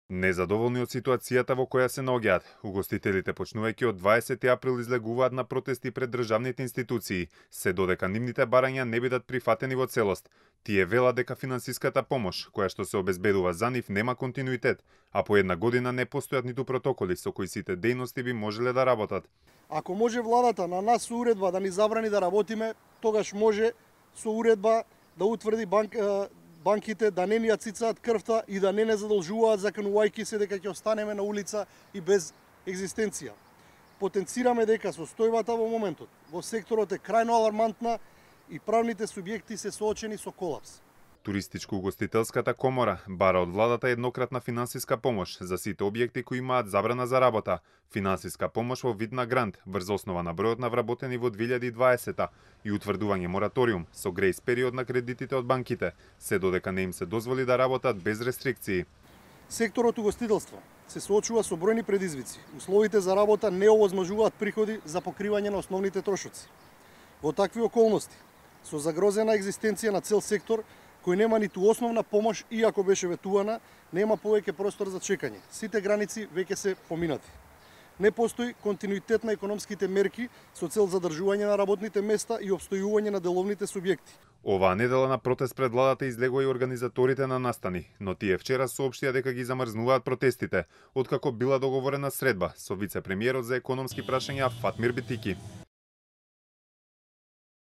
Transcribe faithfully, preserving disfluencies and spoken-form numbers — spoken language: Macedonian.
Незадоволни од ситуацијата во која се наоѓаат, угостителите почнувајќи од дваесети април излегуваат на протести пред државните институции, се додека нивните барања не бидат прифатени во целост. Тие велат дека финансиската помош, која што се обезбедува за нив, нема континуитет, а по една година не постојат ниту протоколи со кои сите дејности би можеле да работат. Ако може владата на нас со уредба да ни забрани да работиме, тогаш може со уредба да утврди банк, банките да не ни ја цицаат крвта и да не не задолжуваат заканувајќи се дека ќе останеме на улица и без екзистенција. Потенцираме дека состојбата во моментот во секторот е крајно алармантна и правните субјекти се соочени со колапс. Туристичко-угостителската комора бара од владата еднократна финансиска помош за сите објекти кои имаат забрана за работа, финансиска помош во вид на грант врз основа на бројот на вработени во две илјади и дваесета и утврдување мораториум со грејс период на кредитите од банките, се додека не им се дозволи да работат без рестрикции. Секторот угостителство се соочува со бројни предизвици. Условите за работа не овозможуваат приходи за покривање на основните трошоци. Во такви околности, со загрозена екзистенција на цел сектор, кој нема ниту основна помош, иако беше ветувана, нема повеќе простор за чекање. Сите граници веќе се поминати. Не постои континуитет на економските мерки со цел задржување на работните места и обстојување на деловните субјекти. Оваа недела на протест пред владата излегува и организаторите на настани, но тие вчера соопштија дека ги замрзнуваат протестите, откако била договорена средба со вице-премиерот за економски прашања Фатмир Битики.